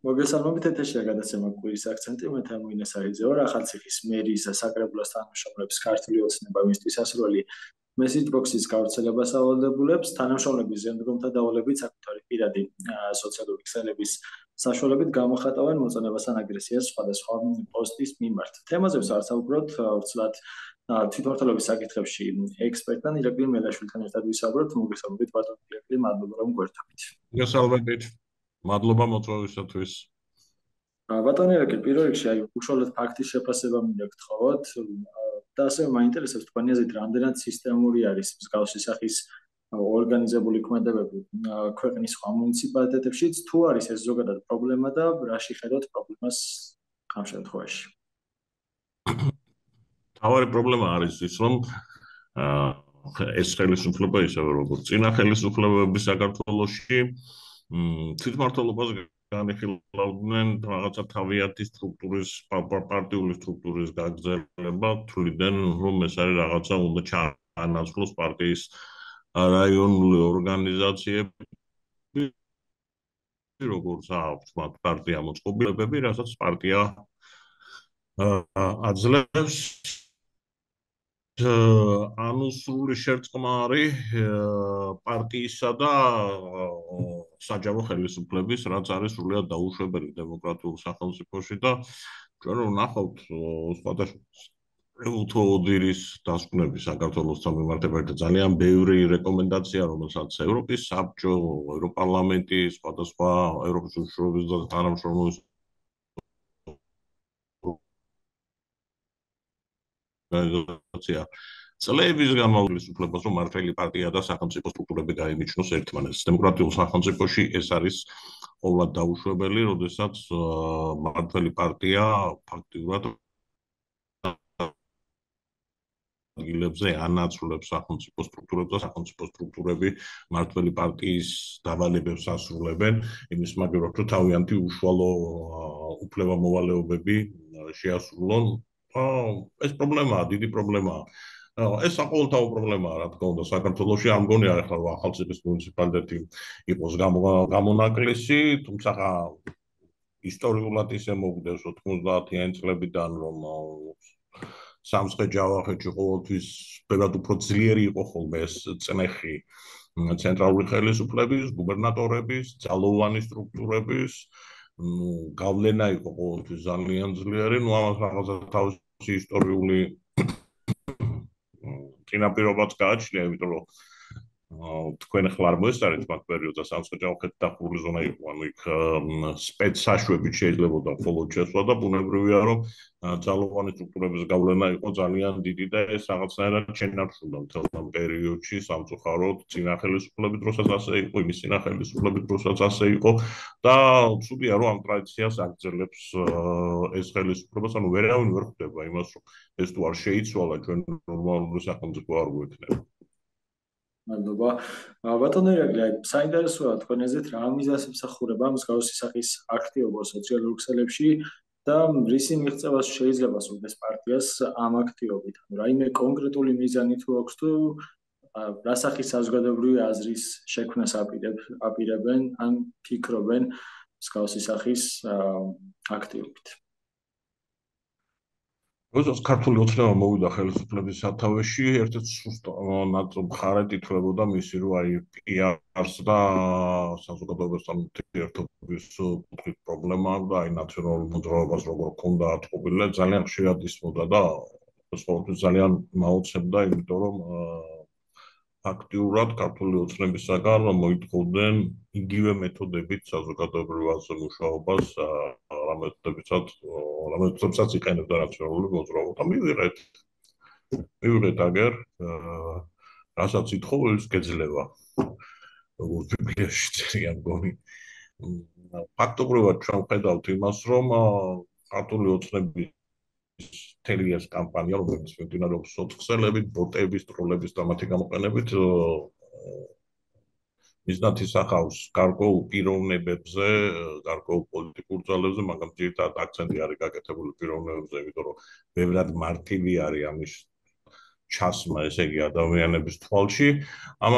მოგესალმებით ეთერშია გადაცემა კვირის აქცენტი მე თემუინე საიძე ვარ ახალციხის მერის საკრებულოს თანამშრომლების ქართული ოცნება მისთვის ასროლი მესიჯ ბოქსის გავრცელებას ავალდებულებს თანამშრომლების ზემდგომთა დავალებით საკუთარი პირადი სოციალური ქსელების საშუალებით გამოხატავენ მოწონებას ან აგრესიას სხვადასხვა პოსტის მიმართ თემაზე ვსაუბრობთ ვრცლად თვითმმართველობის საკითხებში ექსპერტთან ირაკლი მელაშვილთან ერთად ვისაუბრებთ მოგესალმებით ბატონო ირაკლი მადლობა რომ გვერდით მოგესალმებით მადლობა მოწვევისათვის. ბატონო ირაკლი, პირველ რიგში აი უშუალოდ ფაქტის შეფასება მინდა გთხოვოთ და ასევე მაინტერესებს თქვენი აზრით რამდენად სისტემური არის მსგავსი სახის ორგანიზებული ქმედებები ქვეყნის სხვა მუნიციპალიტეტებშიც თუ არის ეს ზოგადად პრობლემა და რაში ხედავთ პრობლემას ამ შემთხვევაში. თავარი პრობლემა არის ის რომ ეს ხელისუფლება ისევე როგორც წინა ხელისუფლებები საქართველოში თვითმმართველობას განიხილავდნენ რაღაცა თავიანთი სტრუქტურის პარტიული სტრუქტურის გაგრძელება თვლიდან რომ ეს არის რაღაცა უნდა ჩაანაცვლოს პარტიის რაიონული ორგანიზაციები როგორც აქვს მათ პარტია მოწყობილობები რასაც პარტია აძლევს ანუ სრული შერწყმარი პარტიისა და საჯარო ხელისუფლების რაც არის სრულად დაუშვებელი დემოკრატიულ სახელმწიფოში და ჩვენ რომ ნახავთ სხვადასხვა ოდირის დასკვნები საქართველოსთან მიმართებით ძალიან ბევრი რეკომენდაცია რომელსაც ევროპის საბჭო, ევროპარლამენტი, სხვადასხვა ევროპის უშუალობის და თანამშრომლობის ორგანიზაცია წლების განმავლობის უფლებას რომ მართველი პარტია და სახელმწიფო სტრუქტურები გაიმიჩნოს ერთმანეთს. დემოკრატიულ სახელმწიფოში ეს არის ყოვლად დაუშვებელი, როდესაც მართველი პარტია ფაქტიურად ადგილებზე ანაცვლებს სახელმწიფო სტრუქტურებს და სახელმწიფო სტრუქტურები მართველი პარტიის დავალებებს ასრულებენ იმის მაგალითად რომ თავიანთი უშუალო უფლება-მოვალეობები შეასრულონ. ეს პრობლემაა, დიდი პრობლემაა. ეს საყოველთაო პრობლემაა, რა თქმა უნდა, საქართველოში არ მგონია ახლა ახალციხის მუნიციპალიტეტი იყოს გამონაკლისი, თუმცა ისტორიულად ისე მოგდეს 90-იანი წლებიდან რომ სამცხე-ჯავახეთში ყოველთვის ბევრად უფრო ძლიერი იყო ხოლმე ეს წნეხი ცენტრალური ხელისუფლების, გუბერნატორების, ძალოვანი სტრუქტურების გავლენა იყო ყოველთვის ძალიან ძლიერი, ამას რაღაცა თავისი ისტორიული წინაპირობაც გააჩნია, იმიტომ რომ თქვენ ახლა არ მოესწარეთ მაგ პერიოდს სამცხე-ჯავახეთი დახურული ზონა იყო, ანუ იქ სპეცსაშვებით შეიძლებოდა მხოლოდ შესვლა და ბუნებრივია რომ ძალოვანი სტრუქტურების გავლენა იყო ძალიან დიდი და ეს რაღაცნაირად შენარჩუნდა მთელ ამ პერიოდში სამწუხაროდ წინა ხელისუფლების დროსაც ასე იყო, იმის წინა ხელისუფლების დროსაც ასე იყო და ცუდია რომ ამ ტრადიციას აგრძელებს ეს ხელისუფლება, ანუ ვერავინ ვერ ხვდება იმას რომ ეს თუ არ შეიცვალა ჩვენ ნორმალური სახელმწიფო არ გვექნება. მადლობა. ბატონო ირაკლი, საინტერესოა თქვენ აზრით რა მიზანს ემსახურება მსგავსი სახის აქტივობა სოციალურ ქსელებში და რისი მიღწევას შეიძლება სურდეს პარტიას ამ აქტივობით. რაიმე კონკრეტული მიზანი თუ აქვს თუ რა სახის საზოგადოებრივი აზრის შექმნას აპირებენ ან ფიქრობენ მსგავსი სახის აქტივობით. როდესაც ქართული ოცნება მოვიდა ხელისუფლების სათავეში, ერთ-ერთი სუსტ მხარედ ითვლებოდა მისი რომ აი პიარს და საზოგადოებასთან ურთიერთობის კუთხით პრობლემა და აი ნაციონალურ მოძრაობას როგორ ჰქონდა ატყობილი, ძალიან ხშირად ისმოდა და ეს ყოველთვის ძალიან მაოცებდა, იმიტომ რომ აქტიურად ქართული ოცნებისაგან მოითხოვდნენ იგივე მეთოდებით საზოგადოებრივ აზრ მუშაობას, რამეთოდებსაც იყენებდა ნაციონალური მოძრაობა და მივიღეთ აგერ რასაც ითხოვ ის გეძლევა როგორც ბიბლიაში წერია მგონი ფაქტობრივად ჩვენ ვხედავთ იმას რომ ქართული ოცნების მთელი ეს კამპანია რომელიც მიმდინარეობს სოციალებით, ბოტების, ტროლების და მათი გამოყენებით მიზნად ისახავს გარკვეულ პიროვნებებზე, გარკვეულ პოლიტიკურ ძალებზე, მაგრამ ძირითადად აქცენტი არის გაკეთებული პიროვნებებზე, იმიტომ რომ ბევრად მარტივი არის ამის ჩასმა, ესე იგი ადამიანების თვალში. ამ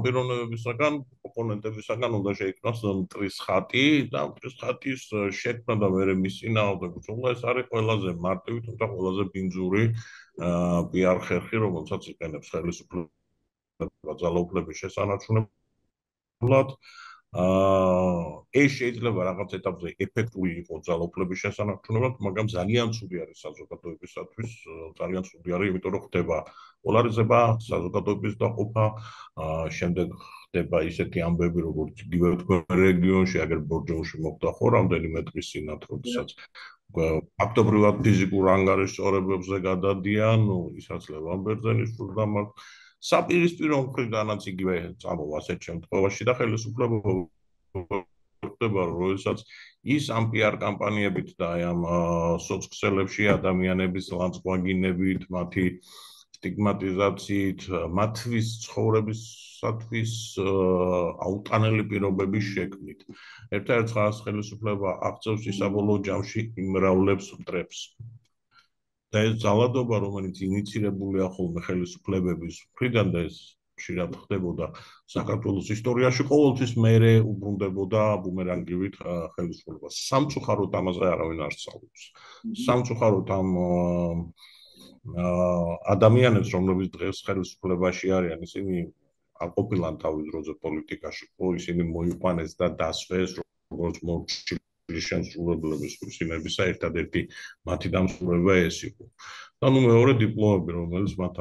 პიროვნებებისაგან, ოპონენტებისაგან უნდა შეიქმნას მტრის ხატი და მტრის ხატის შექმნა და მერე მის წინააღმდეგ ბრძოლა ეს არის ყველაზე მარტივი, თუმცა ყველაზე ბინძური PR ხერხი, რომელსაც იყენებს ხელისუფლება ძალაუფლების შესანარჩუნებლად. ეს შეიძლება რაღაც ეტაპზე ეფექტური იყოს ძალაუფლების შესანარჩუნებლად, მაგრამ ძალიან ცუდი არის საზოგადოებისათვის, ძალიან ცუდი არის, იმიტომ რომ ხდება პოლარიზება, საზოგადოების დაყოფა, შემდეგ ხდება ისეთი ამბები, როგორც იგივე თქვენ რეგიონში, აგერ ბორჯომში მოხდა ხო რამდენიმე დღის წინათ, როდესაც ფაქტობრივად ფიზიკურ ანგარიშწორებებზე გადადიან, ისაცლებ ამბერძენის სულდამართ საპირისპირო მხრიდანაც იგივე წამოვა ასეთ შემთხვევაში და ხელისუფლება ხდება, როდესაც ის ამ PR კამპანიებით და ამ სოცქსელებში ადამიანების ლანძღვაგინებით, მათი სტიგმატიზაციით, მათთვის ცხოვრებისათვის აუტანელი პირობების შექმნით. ერთ-ერთ ხალხს ხელისუფლება აღწევს ისაბოლოო ჯამში იმრავლებს მტრებს. და ეს ძალადობა, რომელიც ინიცირებულია ხოლმე ხელისუფლებების მხრიდან და ეს ხშირად ხდებოდა საქართველოს ისტორიაში, ყოველთვის მერე უბრუნდებოდა ბუმერანგივით ხელისუფლებას. სამწუხაროდ ამაზე არავინ არ სწავლობს. სამწუხაროდ ამ ადამიანებს, რომლებიც დღეს ხელისუფლებაში არიან, ისინი არ ყოფილან თავის დროზე პოლიტიკაში, ხო, ისინი მოიყვანეს და დასვეს როგორც მორჩილი შემსრულებლების ხსინებისა ერთადერთი მათი დამსწრება ეს იყო. და ნუ მეორე დიპლომები, რომელიც მათ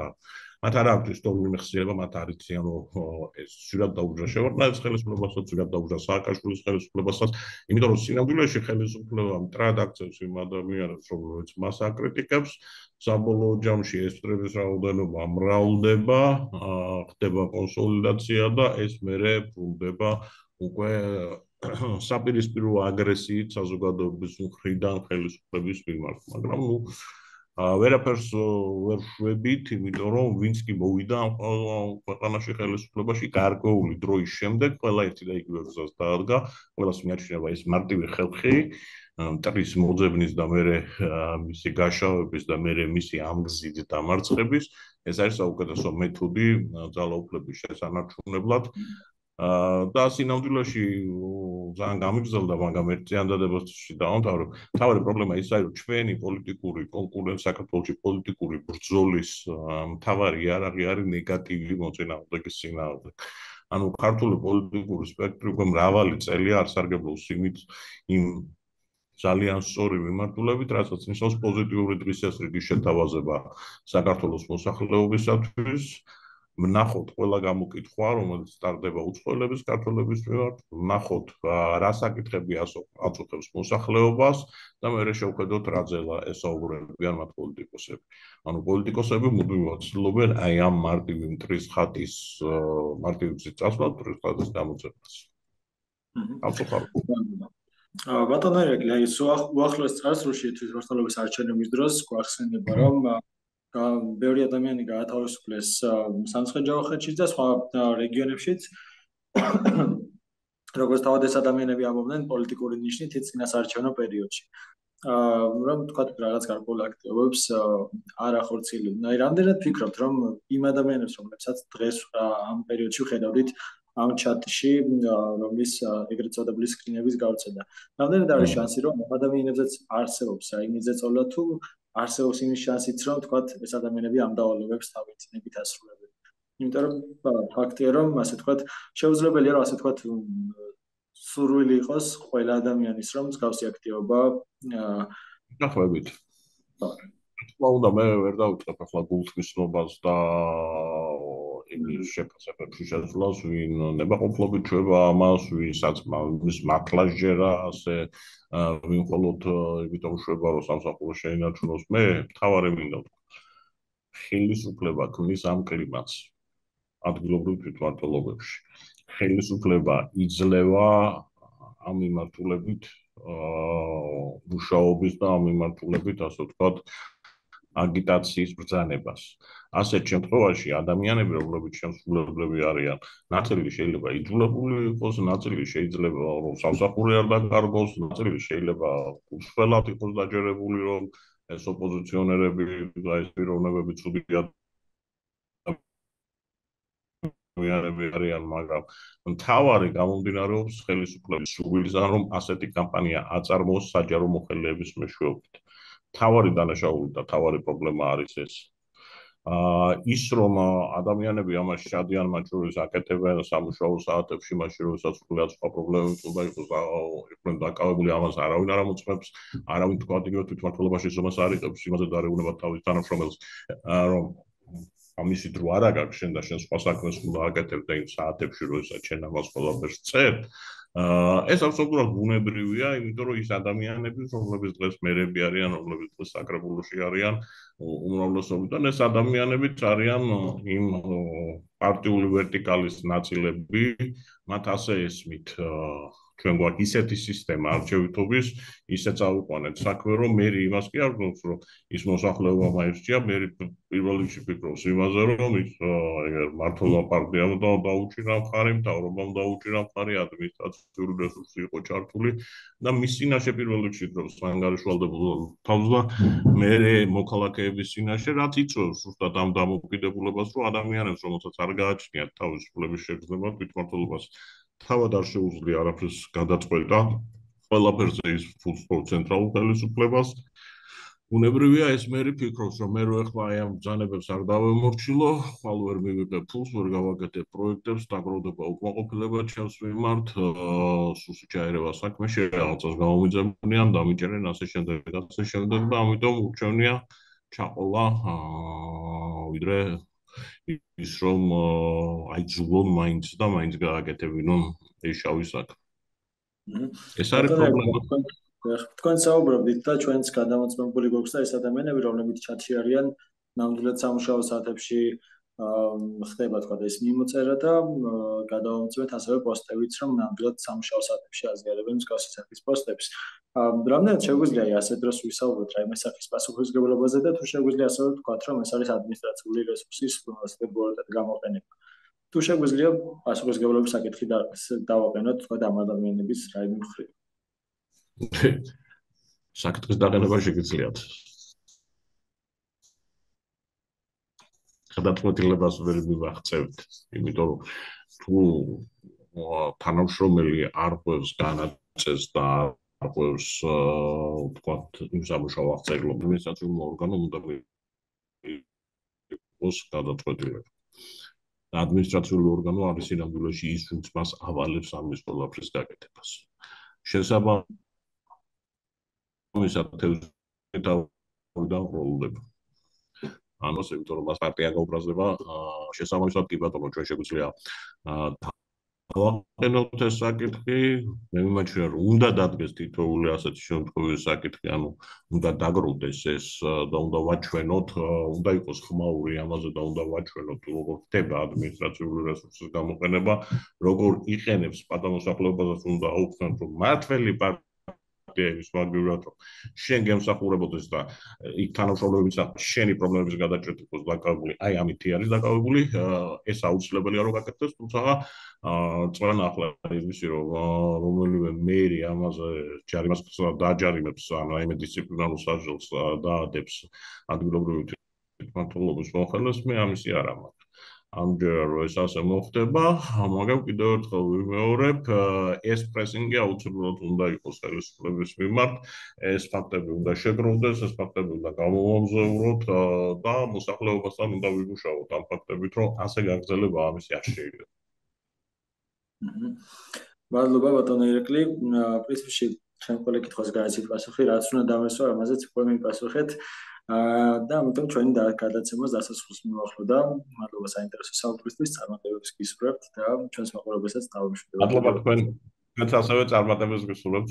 არ აქვს ისტორიული მეხსიერება, მათ არ იციან ეს ძირად დაუჯდა შევარდნაძის ხელისუფლებასაც, ძირად დაუჯდა სააკაშვილის ხელისუფლებასაც, იმიტომ რომ სინამდვილეში ხელისუფლება მტრად აქცევს იმ ადამიანებს, რომლებიც მას აკრიტიკებს, საბოლოო ჯამში ეს მტრების რაოდენობა მრავლდება, ხდება კონსოლიდაცია და ეს მერე ბრუნდება უკვე საპირისპირო აგრესიით საზოგადოების მხრიდან ხელისუფლების მიმართ, მაგრამ ნუ ვერაფერს ვერ შვებით, იმიტომ რომ ვინც კი მოვიდა ქვეყანაში ხელისუფლებაში გარკვეული დროის შემდეგ, ყველა ერთი და იგივე გზას დაადგა, ყველას მიაჩნია ეს მარტივი ხალხი, მტრის მოძებნის და მერე მისი გაშავების და მერე მისი ამგზით დამარცხების, ეს არის საუკეთესო მეთოდი ძალაუფლების შესანარჩუნებლად. და სინამდვილეში ძალიან გამიგზავნა, მაგრამ ერთ ზიანდადებაში დავამთავრებ. თავი პრობლემა ის არის, რომ ჩვენი პოლიტიკური კონკურენცია საქართველოში პოლიტიკური ბრძოლის მთავარი იარაღი არის ნეგატივი მოწინააღმდეგის წინააღმდეგ. ანუ ქართული პოლიტიკური სპექტრი უკვე მრავალი წელია არსარგებლობს იმ ძალიან სწორი მიმართულებით, რასაც ნიშნავს პოზიტიური დღესასრიგის შეთავაზება საქართველოს მოსახლეობისათვის. ვნახოთ ყველა გამოკითხვა, რომელიც სტარდება უცხოელების ქართველების მიმართ, ვნახოთ რა საკითხები აწუხებს მოსახლეობას და მერე შევხედოთ რა ძელა ესაუბრებიან მათ პოლიტიკოსები. ანუ პოლიტიკოსები მუდმივად ცდილობენ აი ამ მარტივი მტრის ხატის მარტივი გზით წასვლას, მტრის ხატის გამოძებას. ბატონო ერეკლი, აი უახლოეს წარსულში თვითმმართველობის არჩევნების დროს გვახსენდება, რომ ბევრი ადამიანი გაათავისუფლეს სამცხე-ჯავახეთში და სხვა რეგიონებშიც. როგორც თავად ეს ადამიანები ამბობდნენ პოლიტიკური ნიშნით წინასაარჩევნო პერიოდში. რომ თქვა რაღაც გარკვეულ აქტივობებს არ ახორციელებდნენ. აი რამდენად ფიქრობთ, რომ იმ ადამიანებს, რომლებსაც დღეს ამ პერიოდში ხედავდით ამ ჩატში, რომლის ეგრეთ წოდებული სკრინების გავრცელდა. რამდენად არის შანსი, რომ ამ ადამიანებზეც არსებობს იმის ზეწოლა თუ არსებობს იმის შანსიც, რომ თქვათ ეს ადამიანები ამ დავალებებს თავისუფლებით ასრულებენ. იმიტომ რომ ფაქტია, რომ ასე თქვათ შეუძლებელია, რომ ასე თქვათ სურვილი იყოს ყველა ადამიანის, რომ მსგავსი აქტივობა დახვევით. თქმა მე ვერ დავიწყებ ახლა გულთმისნობას და იმის შეფასებებში შეძლოს, ვინ ნებაყოფლობით ჩვება ამას, ვისაც მის მართლაც ჯერა, ასე ვინ მხოლოდ იმიტომ შვება, რომ სამსახური შეინარჩუნოს. მე მთავარი მინდა ვთქვა, ხელისუფლება ქმნის ამ კლიმატს ადგილობრივ თვითმმართველობებში. ხელისუფლება იძლევა ამ მიმართულებით მუშაობის და ამ მიმართულებით, ასე ვთქვათ, აგიტაციის ბრძანებას. ასეთ შემთხვევაში ადამიანები, რომლებიც შემსრულებლები არიან, ნაწილი შეიძლება იძულებული იყოს, ნაწილი შეიძლება რომ სამსახური არ დაკარგოს, ნაწილი შეიძლება უშველად იყოს დაჯერებული, რომ ეს ოპოზიციონერები და ეს პიროვნებები ცუდად ადამიანები არიან, მაგრამ მთავარი გამომდინარეობს ხელისუფლების სურვილისგან, რომ ასეთი კამპანია აწარმოოს საჯარო მოხელეების მეშვეობით. მთავარი დანაშაული და მთავარი პრობლემა არის ეს. ის რომ ადამიანები ამაში შადიან, მათ შორის აკეთებენ სამუშაო საათებში, მაშინ როდესაც ყველა სხვა პრობლემები უნდა იყოს იყვნენ დაკავებული, ამას არავინ არ ამოწმებს, არავინ თქვა იგივე თვითმმართველობაში ზომას არ იღებს, იმაზე დაარეუნება თავის თანამშრომელს, რომ ამისი დრო არ აქვს შენ და შენ სხვა საქმეს უნდა აკეთებ და იმ საათებში როდესაც შენ ამას ყველაფერს წერთ. ეს absolუტურად ბუნებრივია, იმიტომ რომ ის ადამიანები, რომლებიც დღეს მერები არიან, რომლებიც დღეს საკრებულოში არიან, უმრავლესობიდან ეს ადამიანებიც არიან იმ პარტიული ვერტიკალის ნაწილები, მათ ასე ესმით ჩვენ გვაქვს ისეთი სისტემა არჩევითობის, ისე წავიყვანეთ საქმე, რომ მე იმას კი არ გქონს, რომ ის მოსახლეობა მაერჩია, მე პირველ რიგში ფიქრობს იმაზე, რომ ის მართლობა პარტიამ დაუჭირა მხარი, მთავრობამ დაუჭირა მხარი, ადმინისტრაციული რესურსი იყო ჩართული და მის წინაშე პირველ რიგში ფიქრობს მანგარიშვალდებულ თავს და მე მოქალაქეების წინაშე რაც იწვევს ზუსტად ამ დამოკიდებულებას, რომ ადამიანებს, რომელსაც არ გააჩნიათ თავისუფლების შეგრძნება თვითმმართველობას თავად არ შეუძლია არაფერს გადაწყვეტა, ყველაფერზე ის ფულს ცენტრალურ ხელისუფლებას. ბუნებრივია ეს მე ფიქრობს, რომ მე რო ეხლა აი ამ ბრძანებებს არ დავემორჩილო, ხვალ ვერ მივიღებ ფულს, ვერ გავაკეთებ პროექტებს, დაგროვდება უკმაყოფილება ჩემს მიმართ, სუსი ჩაერევა საქმეში, რაღაცას გამომიძებნიან, დამიჭერენ ასე შემდეგ და ამიტომ ურჩევნია ჩაყოლა, ვიდრე ის რომ აი ძულონ მაინც და მაინც გააკეთებინონ ეს შავი საქმე. ეს არის პრობლემა. თქვენ საუბრობდით და ჩვენც გადამოწმებული გვაქვს და ეს ადამიანები, რომლებიც ჩატში არიან, ნამდვილად სამუშაო საათებში ხდება თქვა და ეს მიმოწერა და გადავამოწმეთ ასევე პოსტებიც, რომ ნამდვილად სამუშაო საათებში აზიარებენ მსგავსი სახის პოსტებს. რამდენად შეგვიძლია ასეთ დროს ვისაუბროთ რაიმე სახის პასუხისმგებლობაზე და თუ შეგვიძლია ასევე ვთქვათ, რომ ეს არის ადმინისტრაციული რესურსის უპირატესად გამოყენება. თუ შეგვიძლია პასუხისმგებლობის საკითხი დავაყენოთ თქვა და ამ ადამიანების რაიმე მხრივ. საკითხის დაყენება შეგიძლიათ. გადაწყვეტილებას ვერ მივახცევთ, იმიტომ რომ თუ თანამშრომელი არ ყვევს განაწეს და არ ყვევს ვთქვათ იმ სამუშაო აღწერილობას, ადმინისტრაციულ ორგანომ უნდა იყოს გადაწყვეტილება. ადმინისტრაციული ორგანო არის სინამდვილეში ის, ვინც მას ავალებს ამის ყველაფრის გაკეთებას. შესაბამისად თევზიდან ამას იმიტომ რომ მას პარტია გაუბრაზდება, შესაბამისად კი ბატონო ჩვენ შეგვიძლია დავაყენოთ ეს საკითხი, მე მიმაჩნია რომ უნდა დადგეს თითოეული ასეთი შემთხვევის საკითხი, ანუ უნდა დაგროვდეს ეს და უნდა ვაჩვენოთ, უნდა იყოს ხმაური ამაზე და უნდა ვაჩვენოთ როგორ ხდება ადმინისტრაციული რესურსის გამოყენება, როგორ იყენებს პატიმოსახლეობასაც უნდა აუხსნათ რომ მართველი ის მაგივრად რომ შენ გემსახურებოდეს და იქ თანამშრომლებიც შენი პრობლემების გადაჭრით იყოს დაკავებული, აი ამით არის დაკავებული, ეს აუცილებელია რომ გაკეთდეს, თუმცა წვენ ახლა ისი რომ რომელიმე მერი ამაზე ჯარიმას დააჯარიმებს ან რაიმე დისციპლინარულ სასჯელს დაადებს ადგილობრივი თვითმმართველობის მოხელეს, მე ამისი არ ამაქვს. ამჯერად რომ ეს ასე მოხდება, მაგრამ კიდევ ერთხელ ვიმეორებ, ეს პრესინგი აუცილებლად უნდა იყოს ხელისუფლების მიმართ, ეს ფაქტები უნდა შეგროვდეს, ეს ფაქტები უნდა გამოვამზაუროთ და მოსახლეობასთან უნდა ვიმუშაოთ ამ ფაქტებით, რომ ასე გაგრძელება ამისი არ შეიძლება. მადლობა ბატონო ირაკლი, პრინციპში ჩვენ ყველა კითხვას გაიცით პასუხი, რაც უნდა დავესვა, ამაზეც უკვე მიპასუხეთ. და ამიტომ ჩვენი გადაცემას დასასრულს მივახლო. მადლობა საინტერესო საუბრისთვის, წარმატებებს გისურვებთ და ჩვენს მაყურებელსაც დავუმშვიდობთ. მადლობა თქვენს ასევე წარმატებებს გისურვებთ.